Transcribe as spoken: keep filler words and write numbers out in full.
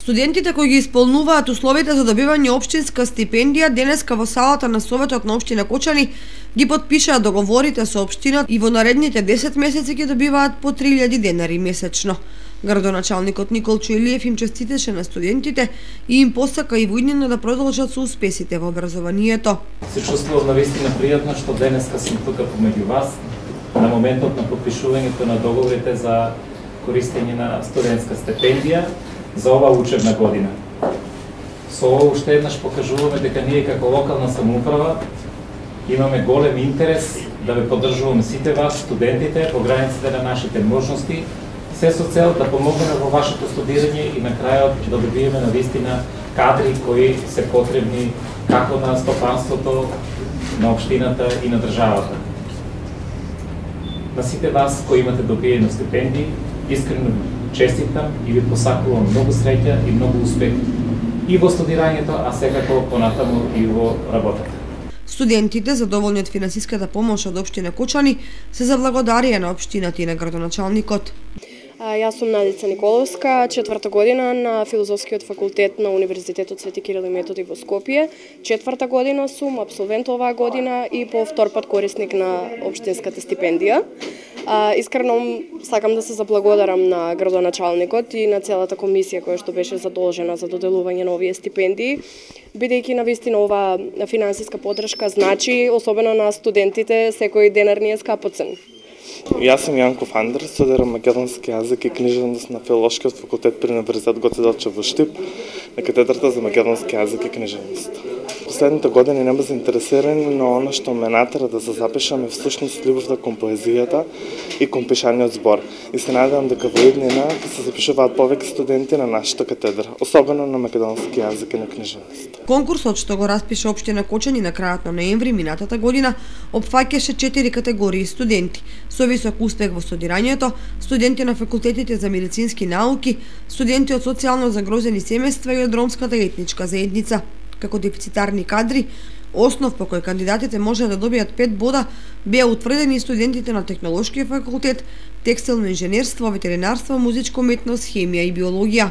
Студентите кои ги исполнуваат условите за добивање општинска стипендија денеска во салата на Советот на општина Кочани ги потпишаа договорите со општината и во наредните десет месеци ќе добиваат по три илјади денари месечно. Градоначалникот Никол Чуелиев им честитеше на студентите и им посака и во иднина да продолжат со успесите во образованието. Се чувствувам навистина пријатно што денеска сум тука помеѓу вас на моментот на потпишувањето на договорите за користење на студентска стипендија за оваа учебна година. Со ова уште еднаш покажуваме дека ние како локална самоуправа имаме голем интерес да ве поддржуваме сите вас, студентите, по границите на нашите можности, се со цел да помогнеме во вашето студирање и на крајот да добиеме навистина кадри кои се потребни како на стопанството, на општината и на државата. На сите вас кои имате добиено стипендии, искрено честитам и ви посакувам многу среќа и многу успех и во студирањето, а секако понатаму и во работата. Студентите, задоволни од финансиската помош од општина Кочани, се заблагодарија на општината и на градоначалникот. Јас сум Надица Николовска, четврта година на Филозофскиот факултет на Универзитетот Свети Кирил и Методи во Скопје. Четврта година сум абсолвент оваа година и по втор пат корисник на општинската стипендија. Искрено сакам да се заблагодарам на градоначалникот и на целата комисија која што беше задолжена за доделување на овие стипендии, бидејќи навистина оваа финансиска поддршка значи, особено на студентите, секој денар ни е скапоцен. Јас сум Јанков Андрес, студирам македонски јазик и книжевност на Филолошкиот факултет при Универзитет Гоце Делчев во Штип, на катедрата за македонски јазик и книжевност. Последните години не ме заинтересирани, но она што ме натера да се запишам е всушност љубовта кон поезијата и кон пишаниот збор. И се надевам дека во иднина ќе се запишуваат повеќе студенти на нашата катедра, особено на македонски јазик и на книжевност. Конкурсот што го распиша општина Кочани на крајот на ноември минатата година опфаќаше четири категории студенти: со висок успех во студирањето, студенти на факултетите за медицински науки, студенти од социјално загрозени семејства и од ромската етничка заедница. Како дефицитарни кадри, основ по кој кандидатите може да добијат пет бода, беа утврдени студентите на Технолошкиот факултет, текстилно инженерство, ветеринарство, музичко уметност, хемија и биологија.